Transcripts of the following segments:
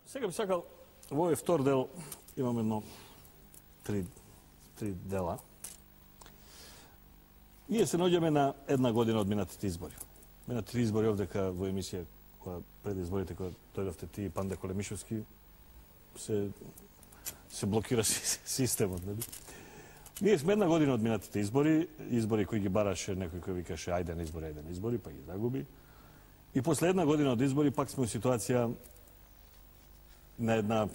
Сега би сакал, во овој втор дел имам едно три дела. Ние се наоѓаме на една година од минатите избори. Минатите избори овдека во емисија, која пред изборите, која дојдовте ти и Панде Колемишовски, се блокира системот, нели? Ние сме една година од минатите избори кои ги бараше некој кој викаше ајде на избори, па ги загуби. И после една година од избори пак сме во ситуација на една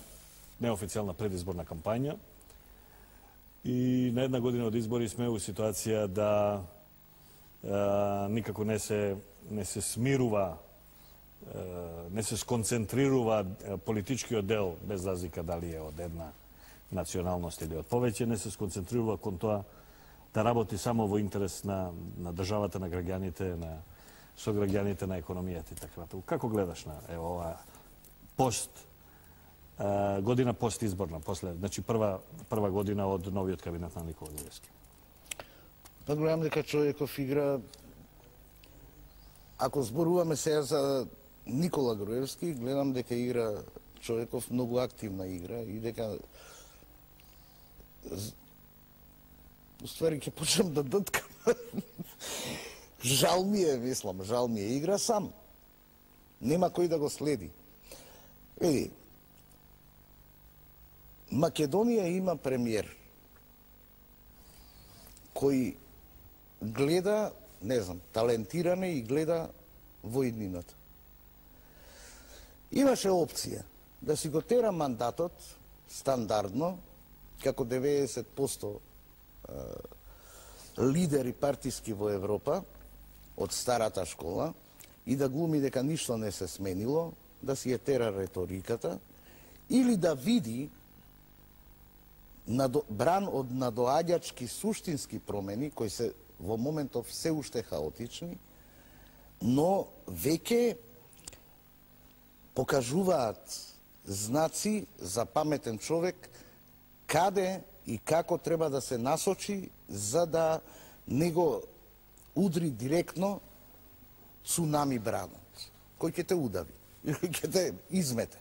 неофицијална предизборна кампања и на една година од избори сме во ситуација да никако не се смирува, не се сконцентрирува политичкиот дел, без разлика дали е од една националност или од повеќе, не се сконцентрирува кон тоа да работи само во интерес на државата, на граѓаните, на сограѓаните, на економијата и така натаму. Како гледаш на оваа година постизборна, значи прва година од новиот кабинет на Никола Груевски? Па гледам дека Човеков игра, ако зборуваме сега за Никола Груевски, гледам дека игра Човеков многу активна игра и дека уствари ќе почнам да дъткам. Жал ми е, игра сам. Нема кој да го следи. Еди, Македонија има премиер кој гледа, не знам, талентиране и гледа во иднината. Имаше опција да си го тера мандатот стандардно, како 90% лидери партиски во Европа, од старата школа, и да глуми дека ништо не се сменило, да си ја тера реториката, или да види бран од надоаѓачки суштински промени, кои се во моментов се уште хаотични, но веќе покажуваат знаци за паметен човек каде и како треба да се насочи за да не го удри директно цунами бранот, кој ќе те удави, ќе те измете.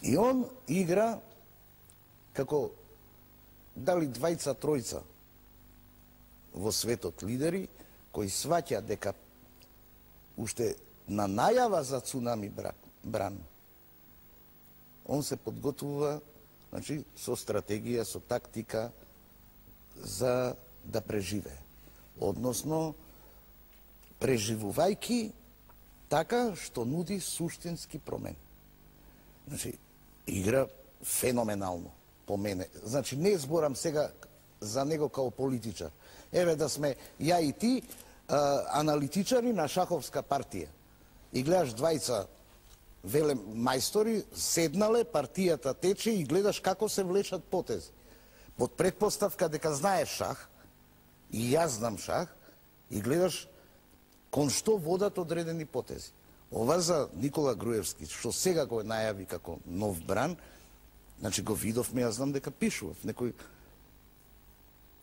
И он игра како дали двајца, тројца во светот лидери, кои сваќа дека уште на најава за цунами бран, он се подготвува, значи, со стратегија, со тактика за да преживее. Односно, преживувајки така што нуди суштински промени. Значи, игра феноменално по мене. Значи, не зборам сега за него као политичар. Еве да сме ја и ти аналитичари на шаховска партија. И гледаш двајца веле мајстори, седнале, партијата тече и гледаш како се влечат потези. Под предпоставка дека знаеш шах, и јас знам шах, и гледаш кон што водат одредени потези. Ова за Никола Груевски, што сега го најави како нов бран, значи го видовме, јас знам дека пишува в некој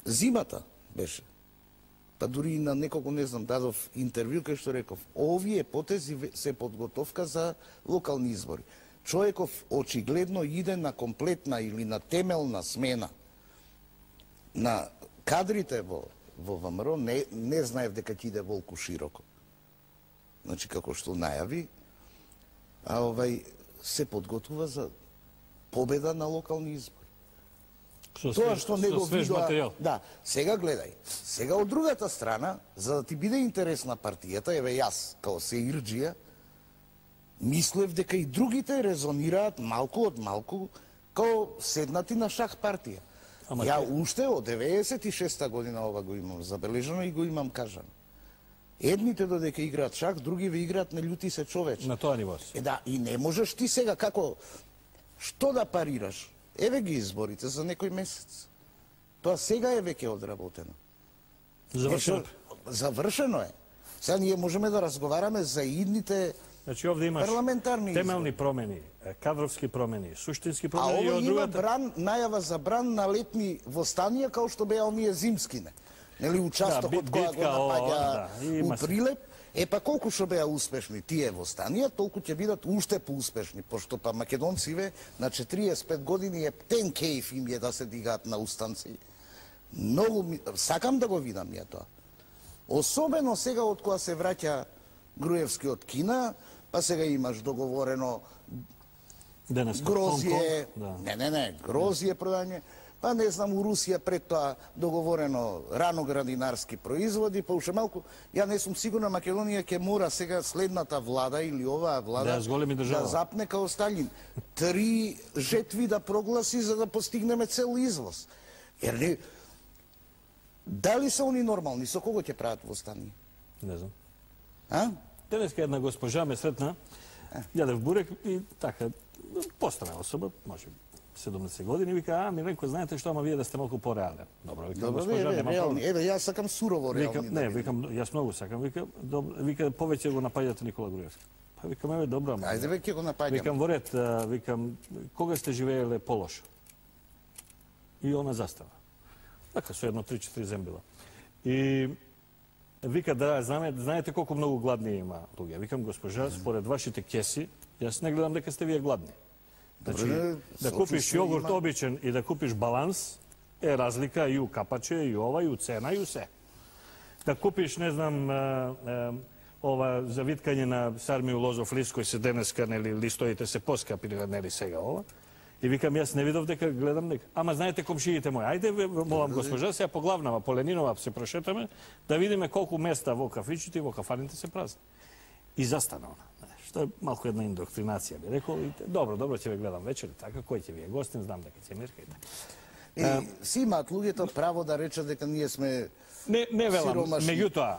зимата беше. Па дури и на некого, не знам, дадов интервју кај што реков, овие потези се подготовка за локални избори. Човеков очигледно иде на комплетна или на темелна смена на кадрите во ВМРО, не знаев дека ќе иде волку широко. Значи, како што најави, се подготвува за победа на локални избори. Тоа што не го видоа... Да, сега гледај. Сега од другата страна, за да ти биде интересна партијата, еве јас, као сеирџија, мислев дека и другите резонираат малку од малку као седнати на шах партија. Ја уште од 96-та година ова го имам забележано и го имам кажано. Едните додека играат шах, други ве играат на љути се човече. На тоа ниво. Да, и не можеш ти сега како... Што да парираш? Еве ги изборите за некој месец. Тоа сега е веќе одработено. Завршено. Завршено е. Сега ние можеме да разговараме за идните Значи овде имаш парламентарни темелни промени, кадровски промени, суштински промени и од од другата... другата... најава за бран на летни востанија, као што беа оние зимскине. Нели, участокот која го напаѓа у Прилеп. Па колку што беа успешни тие востанија, толку ќе бидат уште поуспешни, пошто па македонциве на 45 години е птен кејф им е да се дигаат на устанци. Многу сакам да го видам ја тоа. Особено сега од кога се враќа Груевски од Кина, па сега имаш договорено грозје, грозје продање, па не знам, у Русија пред тоа договорено раноградинарски производи, па уште малку, ја не сум сигурна, Македонија ќе мора сега следната влада или оваа влада да запне као Сталин. 3 жетви да прогласи за да постигнеме цел извоз. Ер не... Дали се они нормални? Со кого ќе прават востанија? Не знам. А? Денеска една госпожа ме сретна, јадев бурек и така, постара особа, може 70 години, вика, ми рекоа, знаете што, ама вие да сте малку пореален. Добро, викам, госпожа, нема проблем. Еве, јас сакам сурово реални. Не, викам, јас многу сакам, вика, повеќе го напаѓате Никола Груевски. Па викам, еве, добро, ама. Ајде, веќе го напаѓам. Викам, во ред, викам, кога сте живееле полошо? И она застава. Така, со едно 3-4 зембила. И вика, да, знаете колку многу гладни има луѓе. Викам, госпожа, според вашите кеси, јас не гледам дека сте вие гладни. Значи, да купиш јогурт обичен и да купиш баланс, е разлика и у капаче, и ова, и у цена, и у се. Да купиш, не знам, ова за виткање на сармију лозов лист, кој се денеска, нели, листоите се поскапи, нели, сега ова. И викам, јас не видов дека гледам дека. Ама знаете комшиите мои, ајде, молам госпожа, сега по главнава, по Ленинова се прошетаме, да видиме колку места во кафичите и во кафаните се празни. И застана она. Што е малку една индоктринација, би рекол. Добро, ќе ве гледам вечер, така, кој ќе ви е гостин, знам дека ќе мирка и така. Си имаат луѓето право да речат дека ние сме Не велам, меѓутоа...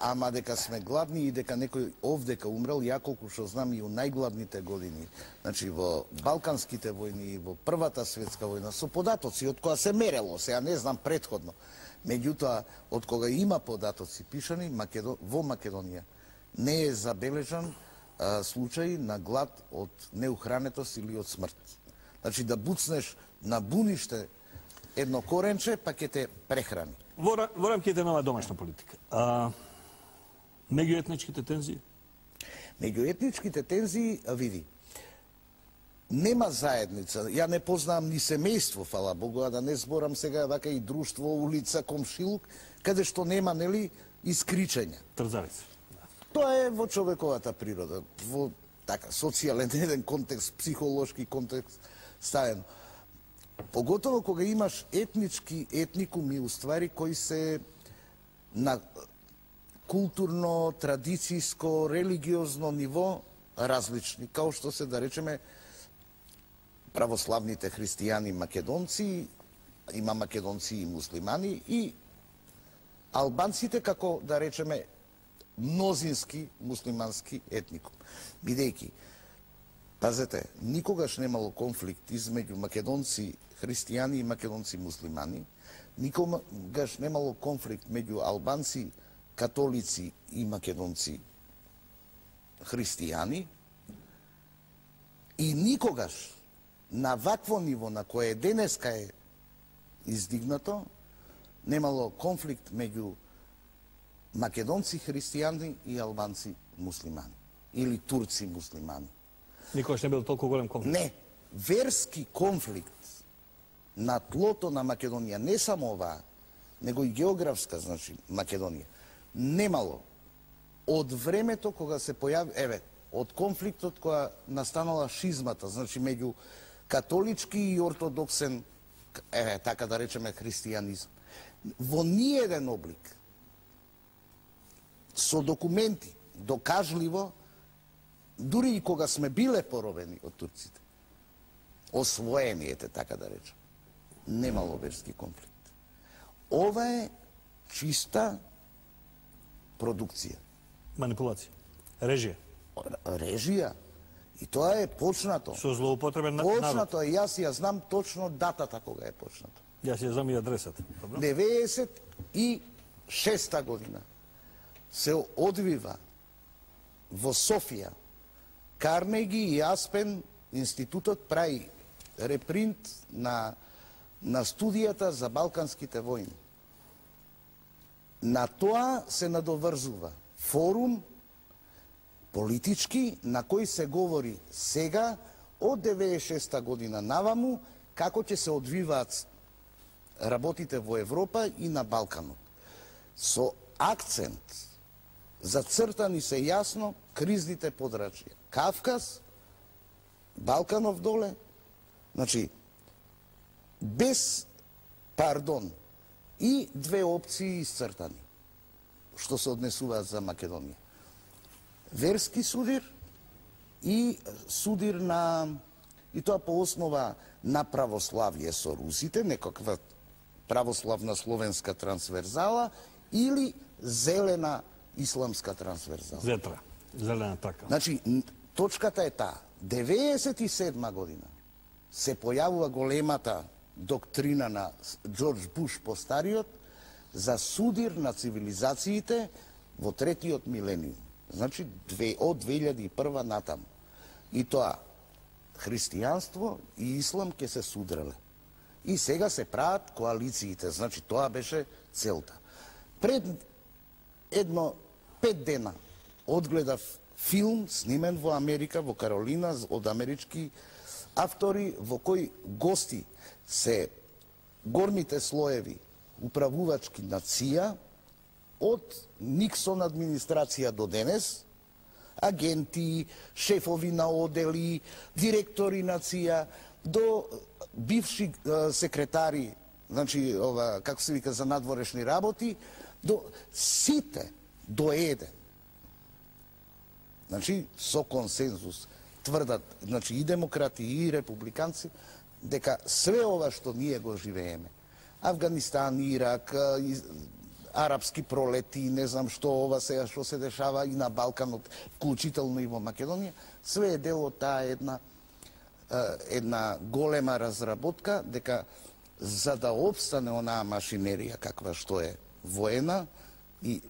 Ама дека сме гладни и дека некој овдека умрел, ја колку што знам и у најгладните години, значи во Балканските војни, во Првата светска војна, со податоци од која се мерело, сега не знам предходно. Меѓутоа, од кога има податоци пишани, во Македонија не е забележан случај на глад од неухранетост или од смрт. Значи да буцнеш на буниште едно коренче, па ќе те прехрани. Во рамките на оваа домашна политика. Меѓуетничките тензии? Меѓуетничките тензии, види, нема заедница. Ја не познавам ни семејство, фала Богу, а да не зборам сега вака и друштво, улица, комшилук, каде што нема, нели, искричења. Трзавица. Тоа е во човековата природа, во така социјален еден контекст, психолошки контекст ставен. Поготово кога имаш етникуми, уствари, кои се на културно, традицијско, религиозно ниво различни, као што се, да речеме, православните христијани македонци, има македонци и муслимани, и албанците, како, да речеме, мнозински муслимански етникум. Бидејќи, пазете, никогаш немало конфликт измеѓу македонци христијани и македонци муслимани, никогаш немало конфликт меѓу албанци, католици и македонци христијани, и никогаш на вакво ниво на кое денеска е издигнато, немало конфликт меѓу македонци христијани и албанци муслимани или турци муслимани. Никогаш не бил толку голем конфликт? Не, верски конфликт на тлото на Македонија, не само оваа, него и географска, значи, Македонија, немало од времето кога се појави, еве, од конфликтот која настанала шизмата, значи, меѓу католички и ортодоксен, еве, така да речеме, христијанизм. Во ниеден облик, со документи, докажливо, дури и кога сме биле поробени од турците, освоени, ете, така да речем, немало верски конфликт. Ова е чиста продукција. Манипулација. Режија. Режија. И тоа е почнато. Со злоупотребен народ. Почнато е, јас ја знам точно датата кога е почнато. Јас ја знам и адресата. 96-та година се одвива во Софија. Карнеги и Аспен институтот прави репринт на студијата за Балканските војни. На тоа се надоврзува форум политички на кој се говори сега од 96 година наваму како ќе се одвиваат работите во Европа и на Балканот. Со акцент зацртани се јасно кризните подрачја. Кавказ, Балканов доле, значи без пардон и две опции исцртани што се однесуваат за Македонија. Верски судир и судир на, и тоа по основа на православие со русите, некаква православна словенска трансверзала или зелена исламска трансверзала. Зетра, зелена трака. Значи, точката е таа. 97 година се појавува големата доктрина на Џорџ Буш постариот за судир на цивилизациите во третиот милениум. Значи, од 2001 натаму. И тоа, христијанство и ислам ќе се судреле. И сега се прават коалициите, значи тоа беше целта. Пред 5 дена одгледав филм снимен во Америка, во Каролина, од амерички автори, во кој гости се горните слоеви управувачки на ЦИА, од Никсон администрација до денес, агенти, шефови на одели, директори на ЦИА, до бивши секретари, значи, како се вика, за надворешни работи, до сите, до еден. Значи, со консензус тврдат, значи, и демократи, и републиканци, дека све ова што ние го живееме, Афганистан, Ирак, арапски пролети, не знам што ова сега што се дешава и на Балканот, вклучително и во Македонија, све е дел од таа една голема разработка, дека за да обстане онаа машинерија каква што е воена и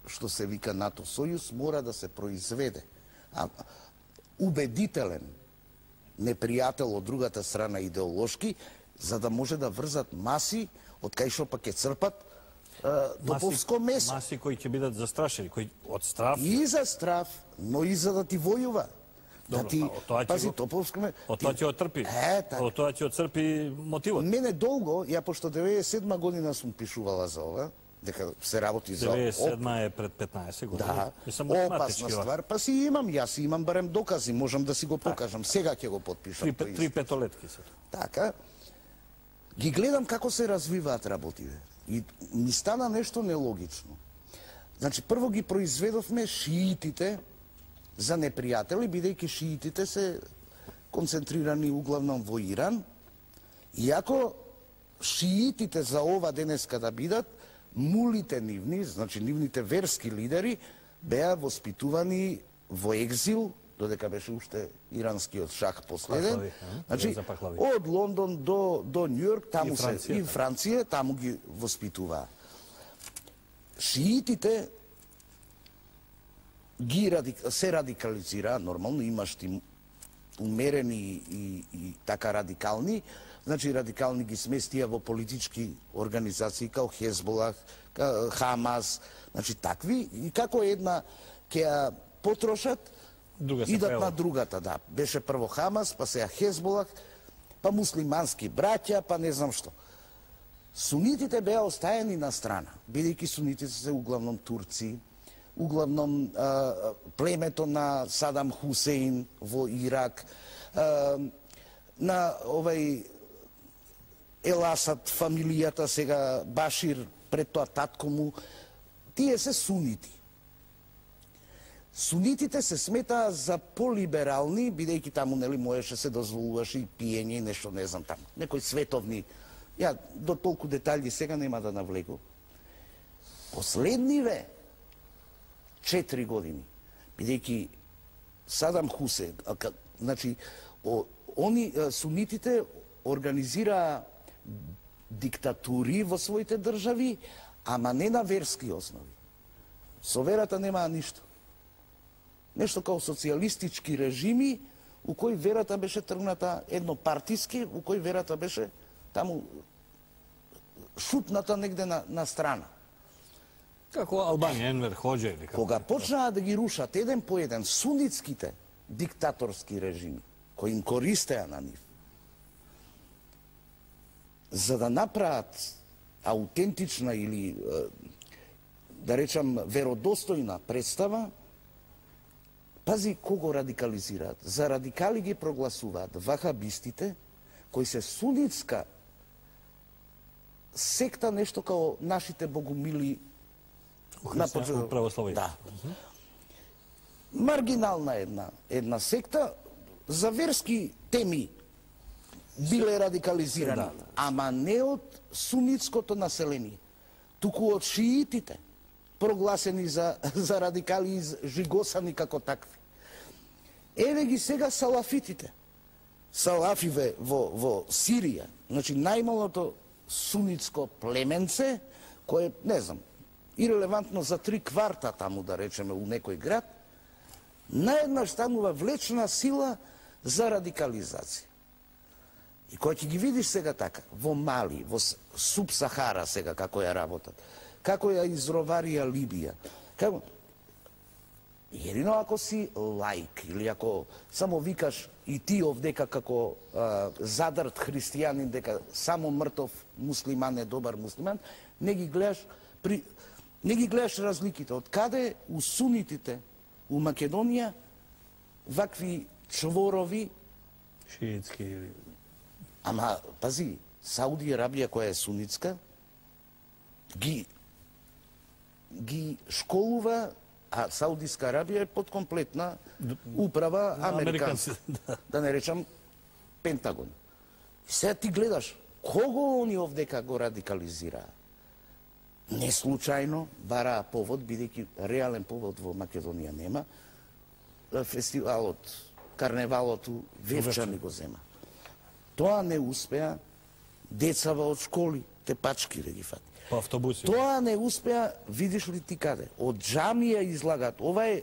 што се вика НАТО Сојуз, мора да се произведе убедителен непријател од другата страна идеолошки, за да може да врзат маси од кај што пак ќе црпат топовско месо. Маси кои ќе бидат застрашени, кои од страв. И за страв, но и за да ти војува. Добро, да ти, пази, топовско месо. Од тоа ќе оттрпи. Од тоа ќе отцрпи мотивот. Мене долго, ја пошто 97 година сум пишувала за ова, дека се работи за 97 е пред 15 години. Да, опасна ствар. Па си имам, јас имам барем докази, можам да си го покажам. Сега ќе го потпишам. 3 петолетки се. Така, ги гледам како се развиваат работите. И ми стана нешто нелогично. Значи, прво ги произведовме шиитите за непријатели, бидејќи шиитите се концентрирани углавном во Иран, иако шиитите за ова денеска да бидат, мулите нивни, значи нивните верски лидери, беа воспитувани во екзил, додека беше уште иранскиот шах последен. Значи, од Лондон до Њујорк, таму и Франција, таму ги воспитуваа. Шиитите се радикализираа, нормално, имаш ти умерени и така радикални, значи радикални ги сместија во политички организации као Хезболах, Хамас, значи такви, и како една ќе ја потрошат, идат на другата, да. Беше прво Хамас, па сега Хезболах, па муслимански браќа, па не знам што. Сунитите беа остаени на страна, бидејќи сунитите се углавном турци, углавном племето на Садам Хусейн во Ирак, на овај Ел Асад, фамилијата сега Башир, пред тоа татко му, тие се сунити. Сунитите се сметаа за полиберални, бидејќи таму нели можеше се дозволуваше и пиење и нешто, не знам таму, некои световни. Ја до толку детали сега нема да навлегу. Последниве 4 години, бидејќи Садам Хусейн, значи сунитите организираа диктатури во своите држави, ама не на верски основи. Со верата немаа ништо. Нешто као социјалистички режими, у кои верата беше тргната еднопартиски, у кои верата беше таму шутната негде на страна. Како Албанија, Енвер Хоџа или како? Кога почнаа да ги рушат еден по еден сунитските диктаторски режими, кои им користеа на нив, за да направат аутентична или, да речам, веродостојна представа, пази кого радикализираат. За радикали ги прогласуваат вахабистите, кои се сунитска секта, нешто као нашите богумили православие. Да. Маргинална една секта, за верски теми биле радикализирани, ама не од сунитското население, туку од шиитите, прогласени за радикали и жигосани како такви. Еве ги сега салафитите. Салафиве во Сирија, значи најмалото сунитско племенце, кое, не знам, ирелевантно за 3 кварта таму, да речеме, у некој град, наеднаш станува влечна сила за радикализација. И кој ќе ги видиш сега така, во Мали, во Суб-Сахара сега како ја работат, како ја изроварија Либија, како... Едино ако си лаик, или ако само викаш и ти овдека како задрт христијанин, дека само мртов муслиман е добар муслиман, не ги гледаш разликите. Од каде у сунитите у Македонија вакви чворови шиитски или... Ама, пази, Сауди Арабија, која е сунитска, ги школува, а Саудиска Арабија е подкомплетна управа американска, да не речам Пентагон. И сега ти гледаш, кого они овдека го радикализираа? Не случајно бараа повод, бидејќи реален повод во Македонија нема, фестивалот, карневалот у Вевчани го зема. Тоа не успеа, децава од школи, тепачки да ги фати. По автобуси. Тоа не успеа, видиш ли ти каде? Од џамија излагат. Ова е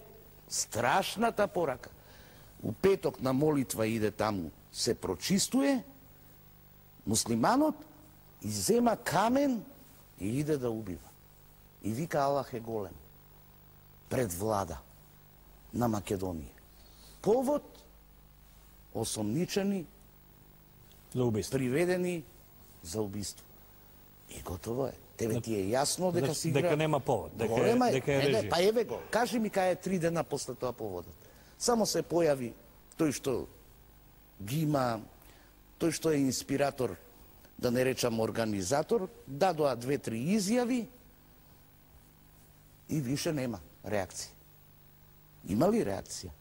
страшната порака. У петок на молитва иде таму, се прочистуе, муслиманот и зема камен и иде да убива. И вика Аллах е голем. Пред влада на Македонија. Повод осомничени, за убиство, приведени за убиство. И готово е. Тебе ти е јасно дека си игра... Дека нема повод, дека е режим. Па еве го, кажи ми кај е 3 дена после тоа поводот. Само се појави тој што ги има, тој што е инспиратор, да не речам организатор, дадоа 2-3 изјави и више нема реакција. Има ли реакција?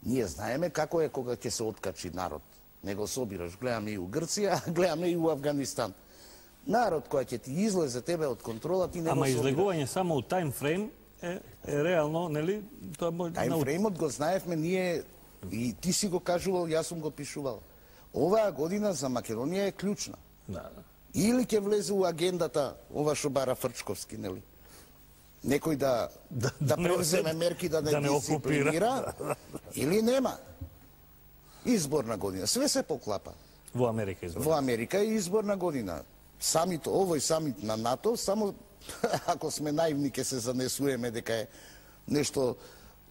Ние знаеме како е кога ќе се откачи народ. Не го собираш, гледаме и у Грција, гледаме и у Афганистан. Народ кој ќе ти излезе тебе од контрола, ти не го собираш. Ама излегување само у таймфрейм е реално, нели? Таймфреймот го знаевме ние, и ти си го кажувал, јас сум го пишувал. Оваа година за Македонија е клучна. Да. Или ќе влезе у агендата ова што бара Фрчковски, нели? Некој да превземе мерки да не дисциплинира, или нема. Изборна година. Све се поклапа. Во Америка изборна. Во Америка е изборна година. Самит, овој самит на НАТО, само ако сме наивни ќе се занесуеме дека е нешто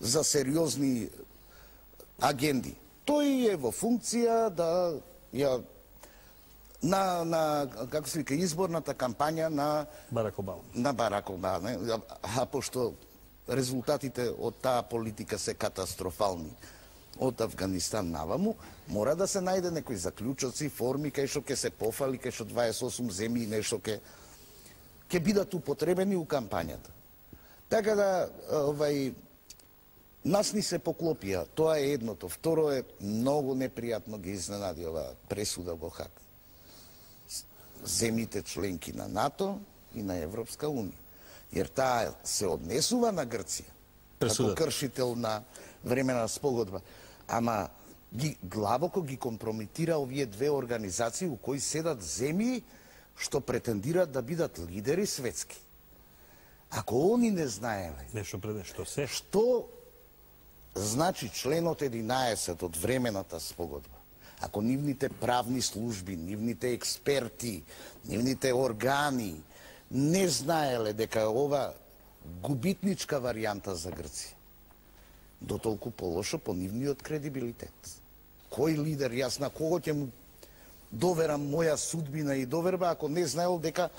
за сериозни агенди. Тој е во функција да ја на како се вика изборната кампања на Барак Обама. На Барак Обама, а пошто резултатите од таа политика се катастрофални од Афганистан наваму, мора да се најде некои заклучоци, форми кај што ќе се пофали, кај што 28 земји нешто ќе бидат употребени у кампањата. Така да нас ни се поклопија, тоа е едното. Второ е многу непријатно ги изненади ова пресуда во Хаг. Земјите членки на НАТО и на Европска Унија. Jer таа се однесува на Грција како кршител на времена спогодба. Ама длабоко ги компрометира овие две организации у кои седат земји што претендираат да бидат лидери светски. Ако они не знаеле што значи членот 11 од времената спогодба, ако нивните правни служби, нивните експерти, нивните органи не знаеле дека ова губитничка варијанта за Грција, дотолку полошо по нивниот кредибилитет. Кој лидер, јас на кого ќе му доверам моја судбина и доверба, ако не знаел дека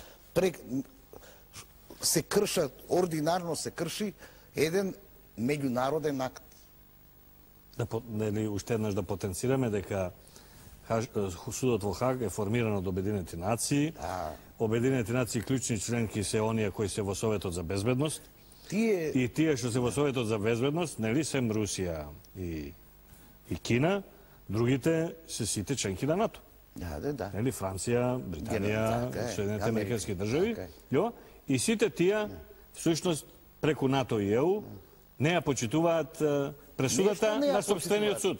се кршат, ординарно се крши еден меѓународен акт. Уште еднаш да потенцираме дека судот во Хаг е формиран од Обединети нации. Обединети нации клучни членки се оние кои се во Советот за безбедност. И тие што се во Советот за безбедност, нели сем Русија и Кина, другите се сите членки на НАТО. Да. Нели Франција, Британија, Соединените американски држави, и сите тие всушност преку НАТО и ЕУ не ја почитуваат пресудата на сопствениот суд.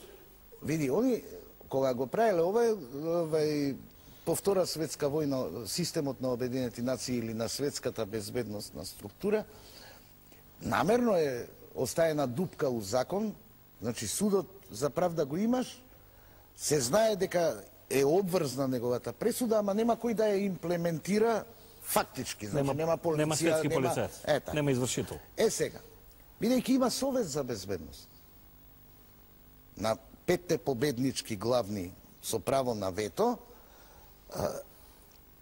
Види, они кога го правеле овај по Втора светска војна, системот на Обединети нации или на светската безбедносна структура, намерно е оставена дупка у закон, значи судот за правда го имаш, се знае дека е обврзна неговата пресуда, ама нема кој да ја имплементира фактички, значи нема полиција, нема светски полицаец, нема извршител. Сега, бидејќи има Совет за безбедност, на 5 победнички главни со право на вето,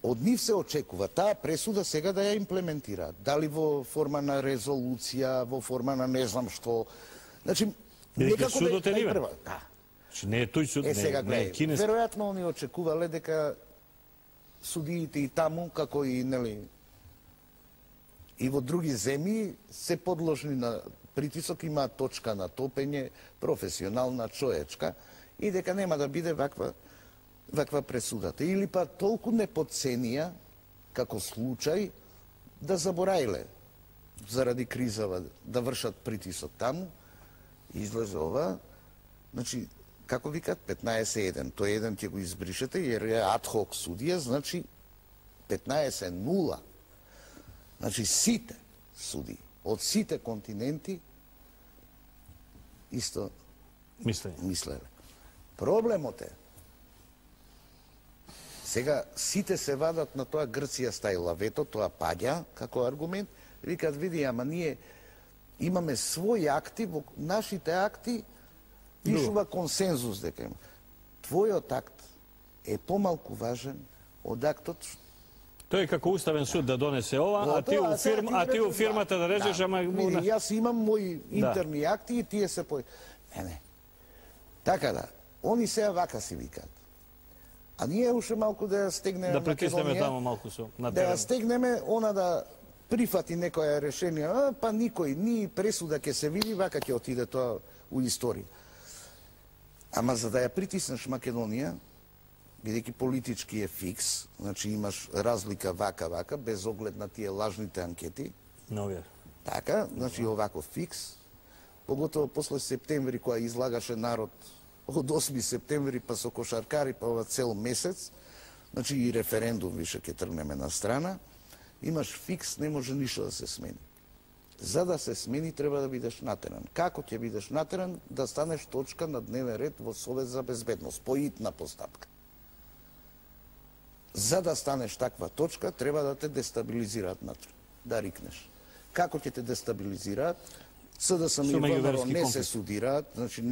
од нив се очекува таа пресуда сега да ја имплементира. Дали во форма на резолуција, во форма на не знам што. Значи, некако судот е нивен. Да. Не е тој суд, не е кинески. Веројатно они очекувале дека судиите и таму, како и нели и во други земји се подложни на притисок, има точка на топење, професионална, човечка, и дека нема да биде ваква пресудата. Или па толку не подценија, како случај, да забораиле заради кризава да вршат притисок таму, излезе ова, значи, како викат, 15-1, тој еден ќе го избришете, jer е адхок судија, значи 15-0. Значи, сите суди, од сите континенти, исто мислеле. Проблемот е, сега сите се вадат на тоа Грција стаила вето, тоа паѓа како аргумент, викат, види, ама ние имаме своји акти, во нашите акти пишува консензус дека има. Твојот акт е помалку важен од актот. Тој е како уставен суд да донесе ова, а ти у фирмата да режеш, ама... Види, јас имам мои интерни акти и тие се по... Не. Така да, они сега вака си викат. А ние уште малку да ја стегнеме да притиснеме таму малку со на терен. Да ја стегнеме, она да прифати некоја решение, па никој, ни пресуда ќе се види, вака ќе отиде тоа у историја. Ама за да ја притиснеш Македонија, бидејќи политички е фикс, значи имаш разлика вака, без оглед на тие лажните анкети. Така, значи овако фикс, поготово после септември, која излагаше народ од 8 септември, па со кошаркари, па ова цел месец, значи и референдум више ќе тргнеме на страна, имаш фикс, не може ништо да се смени. За да се смени, треба да бидеш натеран. Како ќе бидеш натеран? Да станеш точка на дневен ред во Совет за безбедност, поитна постапка. За да станеш таква точка, треба да те дестабилизираат натре, да рикнеш. Како ќе те дестабилизираат? СДСМ и ВМРО не се судираат, значи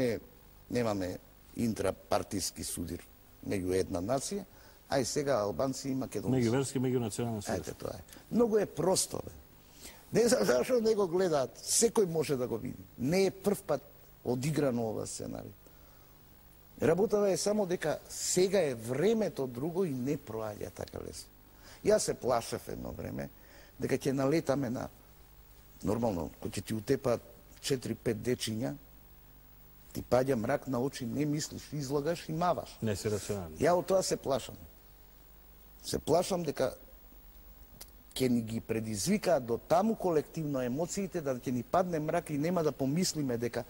немаме интрапартиски судир меѓу една нација, а и сега албанци и македонци. Меѓуверски, меѓунационален судир. Ајде, тоа е. Многу е просто, бе. Не знам зашто не го гледаат, секој може да го види. Не е прв пат одиграно ова сценарий. Работата е само дека сега е времето друго и не проаѓа така лесно. Јас се плашев едно време дека ќе налетаме на нормално, кој ќе ти утепаат 4-5 дечиња, ти паѓа мрак на очи, не мислиш, излагаш и маваш. Не си рационален. Ја од тоа се плашам. Се плашам дека ќе ни ги предизвикаат до таму колективно емоциите, да ќе ни падне мрак и нема да помислиме дека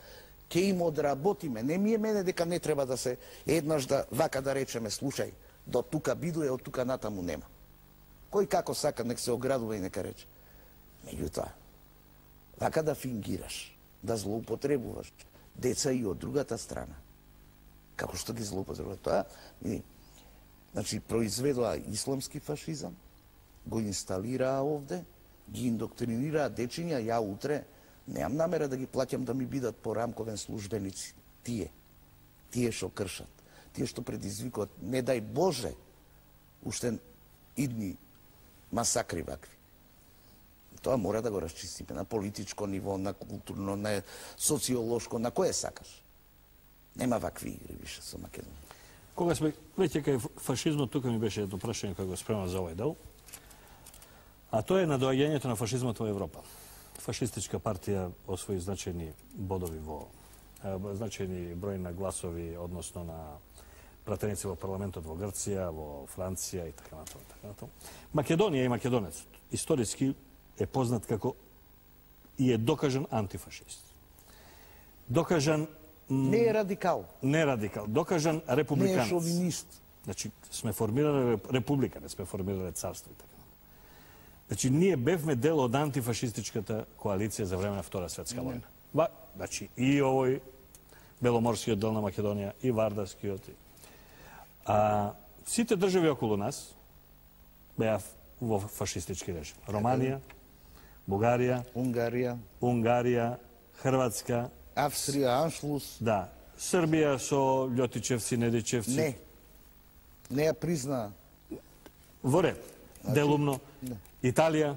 ќе им одработиме. Не ми е мене дека не треба да се еднаш да вака да речеме, слушај, до тука бидуе, од тука натаму нема. Кој како сака, нек се оградува и нека рече. Меѓутоа, вака да фингираш, да злоупотребуваш деца и од другата страна. Како што ги злоупотребува тоа, значи произведоа исламски фашизам, го инсталираа овде, ги индоктринираа дечиња, ја утре немам намера да ги плаќам да ми бидат порамковен службеници. Тие што кршат, тие што предизвикуваат, не дај Боже, уште идни масакри вакви. Тоа мора да го расчистиме на политичко ниво, на културно, на социолошко, на кое сакаш. Нема вакви игри више со Македонија. Кога сме веќе кај фашизмот, тука ми беше едно прашање кога го спремав за овој дел, а тоа е надоаѓањето на фашизмот во Европа. Фашистичка партија освои значајни бодови значајни број на гласови, односно на пратеници во парламентот во Грција, во Франција и така натаму. Македонија и македонецот историски е познат како и е докажан антифашист. Докажан не е радикал. Не е радикал. Докажан републиканец. Не е шовинист. Значи, сме формирале република, не сме формирале царство и така. Значи, ние бевме дел од антифашистичката коалиција за време на Втора светска војна. Значи, и овој Беломорскиот дел на Македонија, и Вардарскиот. Сите држави околу нас беа во фашистички режим. Романија, Бугарија, Унгарија, Хрватска, Австрија, Аншлус. Да. Србија со Лјотичевци, Недичевци. Не ја призна. Во ред. Делумно. Италија,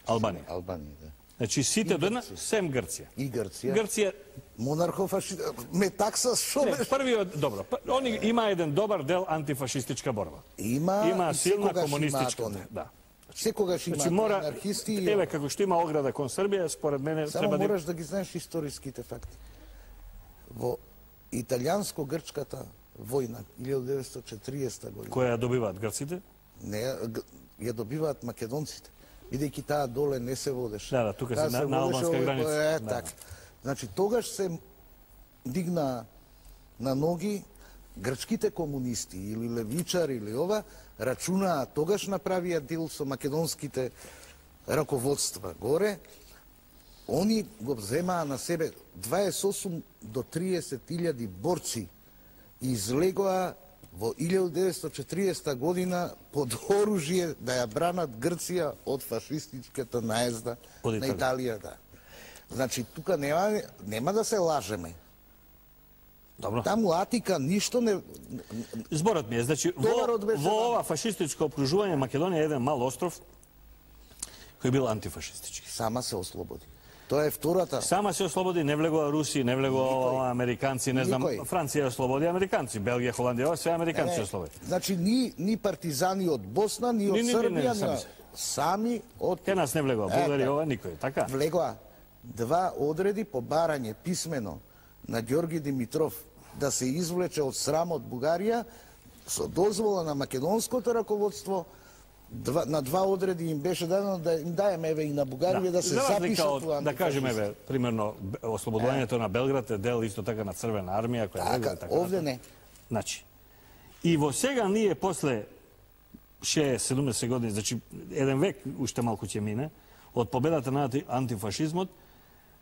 Албанија. Да. Значи сите до една, сем Грција. И Грција. Грција монархофашист, ме такса шо беше? Првиот, добро. Они има еден добар дел антифашистичка борба. Има силна комунистичка. Да. Секогаш има анархисти. Еве како што има ограда кон Србија, според мене само треба мораш да ги знаеш историските факти. Во италијанско-грчката војна 1940 година. Која ја добиваат грците? Не, ја добиваат македонците. Бидејќи таа доле не се водеше. Да, тука се на албанска граница. Така. Значи тогаш се дигна на ноги грчките комунисти или левичари или ова, рачунаа, тогаш направија дел со македонските раководства горе, они го вземаа на себе 28 до 30.000 борци и излегоа во 1940 година под оружје да ја бранат Грција од фашистичката наезда на Италија. Да. Значи, тука нема да се лажеме. Добро. Таму Атика ништо не... Зборот ми е, значи, во ова фашистичко окружување Македонија е еден мал остров кој бил антифашистички. Сама се ослободи. Тоа е втората. Сама се ослободи, не влегува Руси, не влегува американци, не знам, Франција ослободи американци, Белгија, Холандија, ова се американци ослободи. Значи, ни партизани од Босна, ни од Србија, сами од... Ке нас не влегува, Бугарија, ова никој, така? Влегува два одреди по барање писмено на Ѓорги Димитров да се извлече од срамот Бугарија со дозвола на македонското раководство. На два одреди им беше дадено да им даеме еве и на Бугарија да се запишат во да кажеме еве примерно ослободувањето на Белград е дел исто така на Црвена армија која влегува така. Овде не. Значи и во сега ние после 60-70 години, значи еден век уште малку ќе мине од победата на антифашизмот,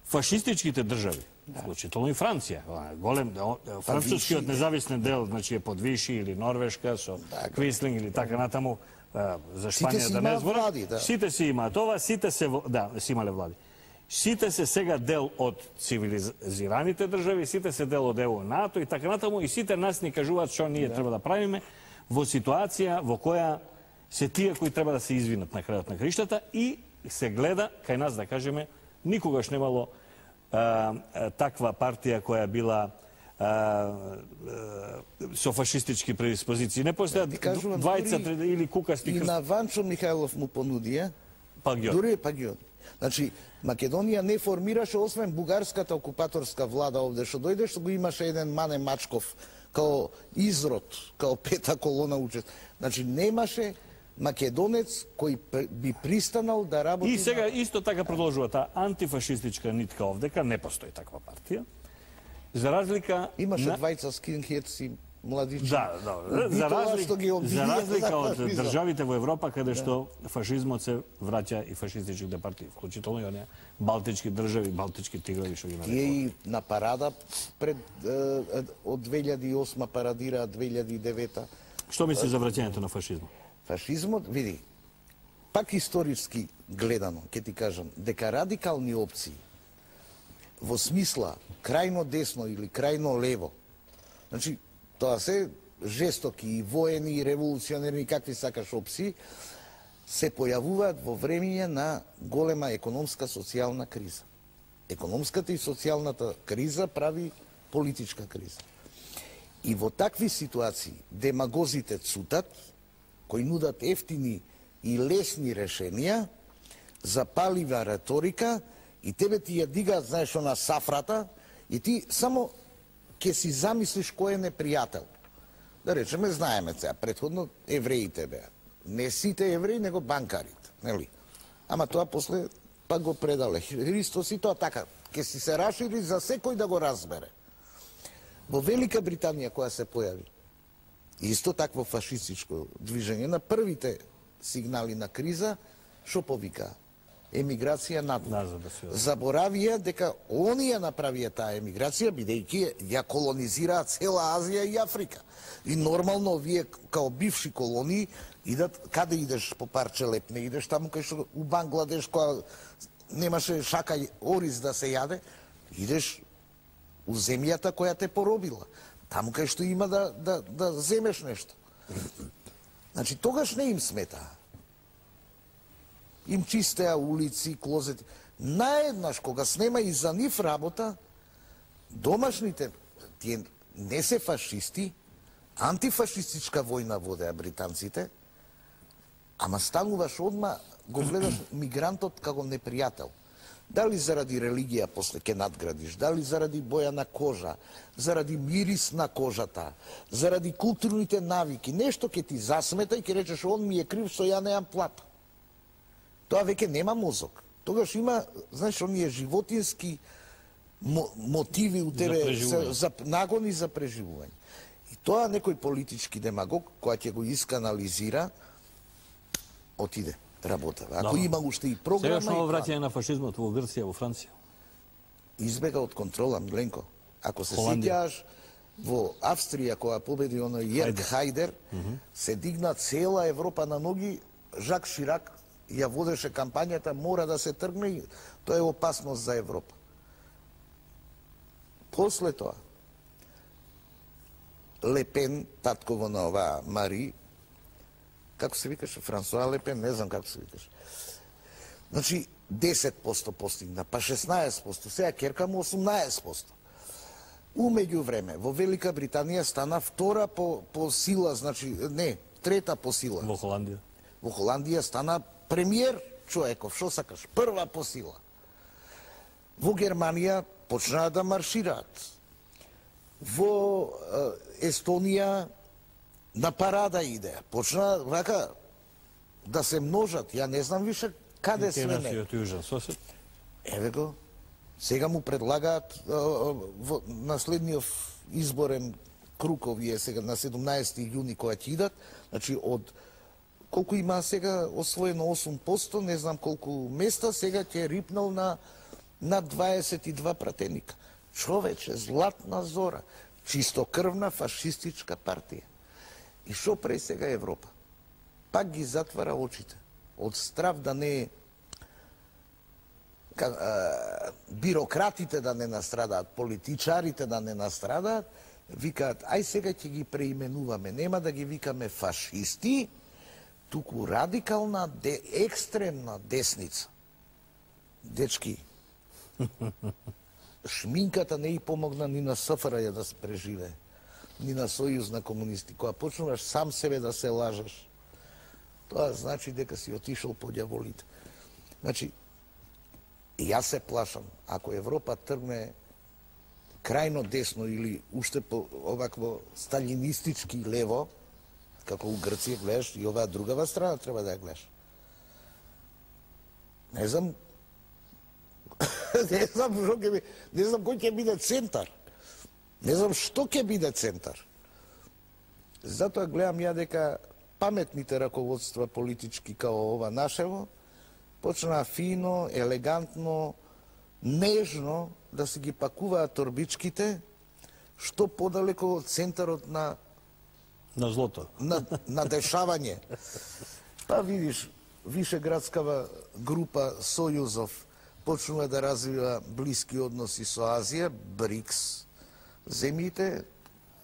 фашистичките држави, вклучително и Франција, голем францускиот независен дел, значи е подвиши или Норвешка со Квислинг или така натаму, за Шпанија да не зборам. Сите си имаат ова, сите се си имале влади. Сите се сега дел од цивилизираните држави, сите се дел од ЕУ, НАТО и така натаму, и сите нас ни кажуваат што ние треба да правиме во ситуација во која се тие кои треба да се извинат на крајот на краиштата и се гледа кај нас, да кажеме, никогаш немало таква партија која била со фашистички предиспозиции. Не постојат двајца или кукасти крст. И на Ванчо Михајлов му понудија, дури Пагиот. Значи, Македонија не формираше, освен бугарската окупаторска влада овде, што дојде, што го имаше еден Мане Мачков, као изрод, као пета колона учест. Значи, немаше македонец кој би пристанал да работи... И сега исто така продолжува таа антифашистичка нитка овдека, не постои таква партија. За разлика... Имаше двајца скинхедси, младичи. Да. За разлика од државите во Европа, каде што фашизмот се враќа и фашистичките партии, вклучително и оние балтички држави, балтички тигрови, што ги нарекуваме. И на парада пред од 2008 парадира 2009. Што мисли за враќањето на фашизмот? Фашизмот, види, пак историски гледано, ќе ти кажам, дека радикални опции во смисла крајно десно или крајно лево, значи, тоа се жестоки и воени, и револуционерни, и какви сакаш опции, се појавуваат во времење на голема економска социјална криза. Економската и социјалната криза прави политичка криза. И во такви ситуации демагозите цутат, кои нудат ефтини и лесни решенија, запалива реторика, и тебе ти ја дигаат, знаеш, на сафрата, и ти само ќе си замислиш кој е непријател. Да речеме, знаеме сега, претходно евреите беа. Не сите евреи, него банкарите, нели? Ама тоа после пак го предале Христос и тоа така, ќе си се расшири за секој да го разбере. Во Велика Британија која се појави, исто такво фашистичко движење, на првите сигнали на криза, шо повика? Емиграција надвор. Заборавија дека они ја направија таа емиграција, бидејќи ја колонизираат цела Азија и Африка. И нормално вие као бивши колонии идат, каде идеш по парче леп, не идеш таму кај што у Бангладеш, која немаше шака ориз да се јаде, идеш у земјата која те поробила. Таму кај што има да земеш нешто. Значи, тогаш не им смета. Им чистеа улици, клозети. Наеднаш, кога снема и за нив работа, домашните, тие не се фашисти, антифашистичка војна водеа британците, ама стануваш одма, го гледаш мигрантот како непријател. Дали заради религија после ке надградиш, дали заради боја на кожа, заради мирис на кожата, заради културните навики, нешто ке ти засмета и ке речеш, он ми е крив што ја неам плата. Тоа веќе нема мозок. Тогаш има, знаеш, оние животински мотиви у тебе, за нагони за преживување. И тоа некој политички демагог, која ќе го исканализира, отиде, работа. Ако има уште и програма... Сегашно враќање на фашизмот во Грција, во Франција. Избега од контрола, Миленко. Ако се сеќаш, во Австрија, која победи оној Јерг Хајдер, се дигна цела Европа на ноги, Жак Ширак ја водеше кампањата, мора да се тргне и тоа е опасност за Европа. После тоа, Лепен, татково на оваа Мари, како се викаше, Франсуа Лепен, не знам како се викаше. Значи, 10% постигна, па 16%, сега керка му 18%. Умеѓу време, во Велика Британија стана втора по сила, значи, не, трета по сила. Во Холандија. Во Холандија стана премиер човеков, шо сакаш, прва по сила. Во Германија почнаа да маршираат. Во Естонија на парада иде. Почна вака да се множат. Ја не знам више каде све не. Еве го, сега му предлагаат на следниот изборен круг овие сега на 17 јуни која ќе идат, значи од колку има сега освоено 8%, не знам колку места, сега ќе рипнал на 22 пратеника. Човече, златна зора, чистокрвна фашистичка партија. И шо пре сега Европа? Пак ги затвара очите. Од страв да не... бирократите да не настрадаат, политичарите да не настрадаат, викаат, ај сега ќе ги преименуваме, нема да ги викаме фашисти, туку радикална, екстремна десница. Дечки, шминката не и помогна ни на СФРЈ да се преживее, ни на Сојуз на комунисти. Кога почнуваш сам себе да се лажеш, тоа значи дека си отишол по ѓаволите. Значи, јас се плашам, ако Европа тргне крајно десно или уште по овакво сталинистички лево, како у Грција гледаш, и оваа другава страна треба да ја гледаш. Не знам, не знам кој ќе биде центар. Не знам што ќе биде центар. Затоа гледам ја дека паметните раководства политички као ова нашево почнаа фино, елегантно, нежно да се ги пакуваат торбичките што подалеко од центарот на злото. На дешавање. Па видиш, Вишеградскава група Сојузов почнува да развива блиски односи со Азија, БРИКС, земјите,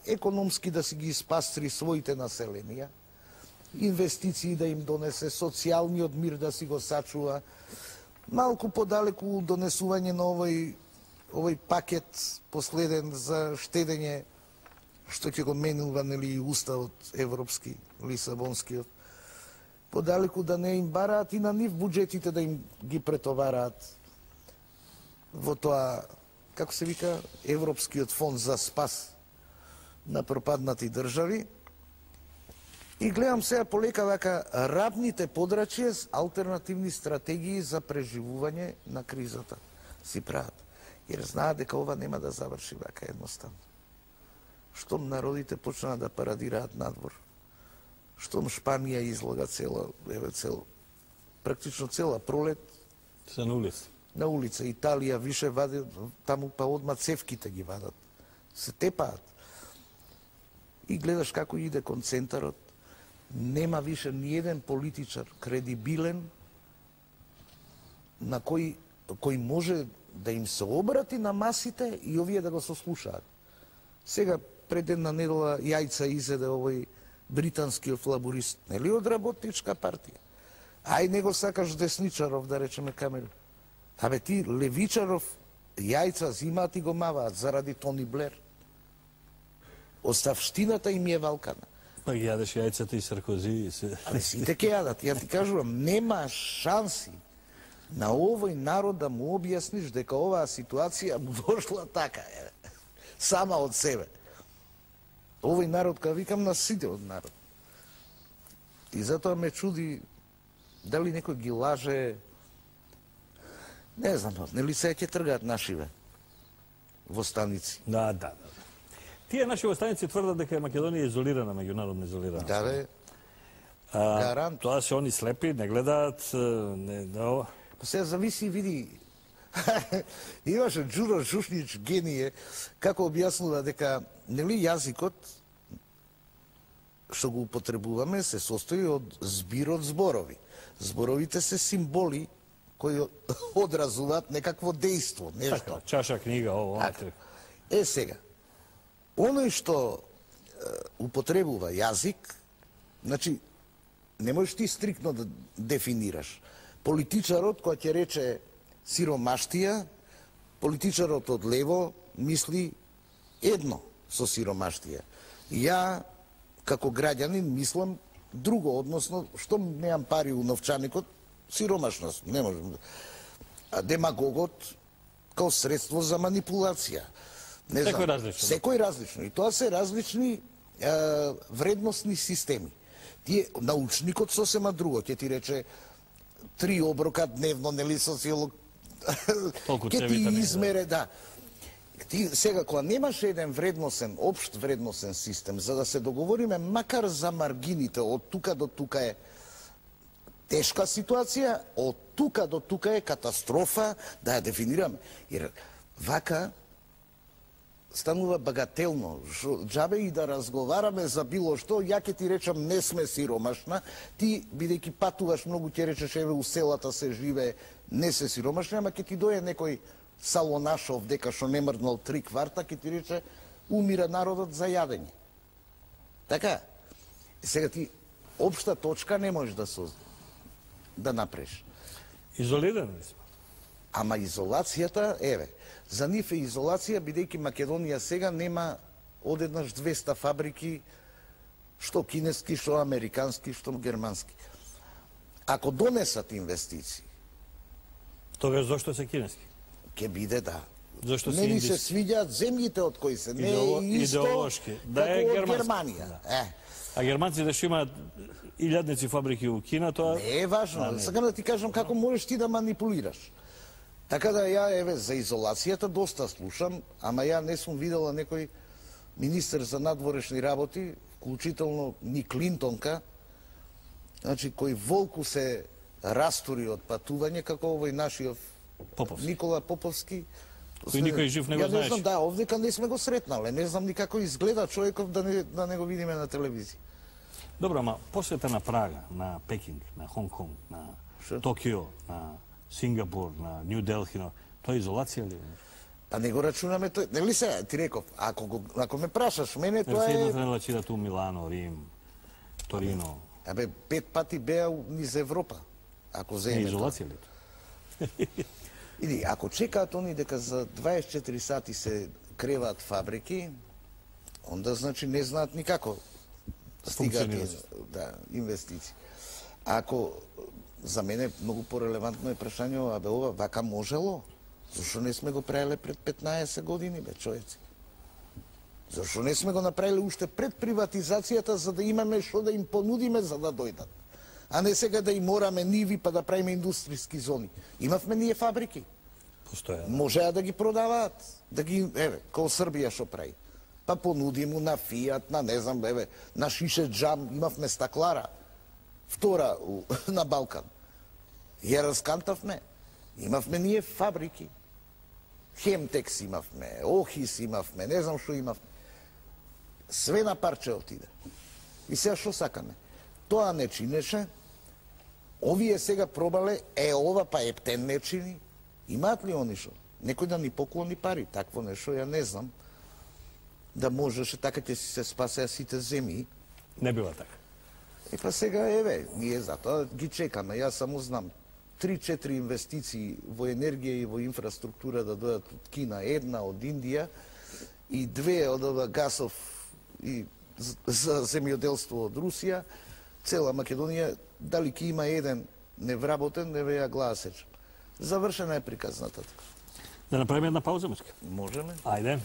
економски да си ги испастри своите населенија, инвестиции да им донесе, социјалниот мир да си го сачува, малку подалеку донесување на овој пакет последен за штедење, што ќе го менува, нели, и уставот европски, лисабонскиот, подалеку да не им бараат и на нив буџетите да им ги претовараат во тоа, како се вика, Европскиот фонд за спас на пропаднати држави. И гледам сега полека вака рабните подрачја с алтернативни стратегии за преживување на кризата си прават. Jer знаат дека ова нема да заврши вака едноставно. Штом народите почнаа да парадираат надвор, штом Шпанија излага практично цела пролет се на улица. На улица, Италија више вади, таму па одма цевките ги вадат. Се тепаат. И гледаш како иде концентарот. Нема више ни еден политичар кредибилен на кој може да им се обрати на масите и овие да го сослушаат. Сега пред една недела јајца изеде овој британскиот лаборист, нели од работничка партија. Ај не го сакаш десничаров, да речеме Камеру. Абе ти левичаров јајца зимаат и го маваат заради Тони Блер. Оставштината им е валкана. Па ги јадеш јајцата и Саркози. Абе сите ќе јадат. Ја ти кажувам, нема шанси на овој народ да му објасниш дека оваа ситуација му дошла така, сама од себе. Овој народ, кога викам, на сите од народ. И затоа ме чуди дали некој ги лаже, не знам, нели сега ќе тргаат нашиве востаници. Да. Тие наши востаници тврдат дека Македонија е изолирана, меѓународно изолирана. Да, бе. Гарант. Тоа се они слепи, не гледаат, не. Сега зависи, види, имаше Џуро Жушнич, гение, како објаснува дека, нели, јазикот, што го употребуваме, се состои од збир од зборови. Зборовите се символи кои одразуваат некакво дејство, нешто. Чаша, книга, ово, сега, оној што употребува јазик, значи, не можеш ти стрикно да дефинираш. Политичарот, кој ќе рече сиромаштија, политичарот од лево мисли едно со сиромаштија. Ја, како граѓанин, мислам друго, односно, што немам пари у новчаникот, сиромашност, не можем. А демагогот, као средство за манипулација. Секој различно. Секој различно. И тоа се различни вредносни системи. Тие, научникот сосема друго, ќе ти рече 3 оброка дневно, нели, социолог, ќе ти измере, да. Ти сега, кога немаш еден вредносен, општ вредносен систем, за да се договориме, макар за маргините, од тука до тука е тешка ситуација, од тука до тука е катастрофа, да ја дефинираме. Jer вака станува багателно. Джабе и да разговараме за било што, ја ќе ти речам не сме сиромашна, ти бидејќи патуваш многу ќе речеш еве у селата се живее, не се сиромашни, ама ќе ти дојде некој Салонашов дека што не мрднал 3 кварта, ќе ти рече умира народот за јадење. Така? Сега ти општа точка не можеш да направиш. Изолирани сме. Ама изолацијата, еве, за нив е изолација, бидејќи Македонија сега нема одеднаш 200 фабрики, што кинески, што американски, што германски. Ако донесат инвестиции, тогаш зошто се кинески? Ке биде, да. Зошто не ни се свиѓаат земјите од кои се, не е исто да е како од Германија. Да. А германците што имаат илјадници фабрики у Кина, тоа не е важно. Сакам да ти кажам како можеш ти да манипулираш. Така да ја, еве, за изолацијата доста слушам, ама ја не сум видела некој министер за надворешни работи, вклучително ни Клинтонка, значи, кој волку се растури од патување, како овој нашиот Никола Поповски. Кој никој жив не го знаеш. Ја не знам, да, овдека не сме го сретнале, не знам ни како изгледа човеков да не го видиме на телевизија. Добро, ама посета на Прага, на Пекинг, на Хонг Конг, на Токио, на Сингапур, на Нью Делхи, тоа е изолација ли? Па не го рачунаме тој. Нели се, ти реков, ако ме прашаш мене, тоа Се е... имате релација ту Милано, Рим, Торино. Абе, 5 пати беа низ Европа. Ако Е земе изолација ли? Иди, ако чекаат они дека за 24 сати се креваат фабрики, онда значи не знаат никако стигаат инвестиции. Ако за мене многу порелевантно е прашање, абе ова вака можело? Зошто не сме го правиле пред 15 години, бе, човеци? Зошто не сме го направиле уште пред приватизацијата, за да имаме што да им понудиме за да дојдат? А не сега да им мораме ниви па да правиме индустријски зони. Имавме ние фабрики. Постоја. Можеа да ги продаваат, да ги, еве, као Србија што прави. Па понуди му на Фијат, на не знам, еве, на Шише Джам, имавме стаклара, втора на Балкан. Ја раскантавме. Имавме ние фабрики. Хемтекс имавме, Охис имавме, не знам што имавме. Све на парче отиде. И сега што сакаме? Тоа не чинеше, овие сега пробале, ова па ептен не чини. Имаат ли они шо? Некој да ни поклони пари, такво нешто, ја не знам. Да можеше, така ќе си се спасеа сите земји. Не бива така. И па сега, еве, ние затоа ги чекаме. Јас само знам 3-4 инвестиции во енергија и во инфраструктура да дојдат од Кина, една од Индија и 2 од гасов и за земјоделство од Русија. Цела Македонија, дали ќе има еден невработен, не веја глава сечам. Завршена е приказната. Да направиме една пауза, муска? Можеме. Ајде.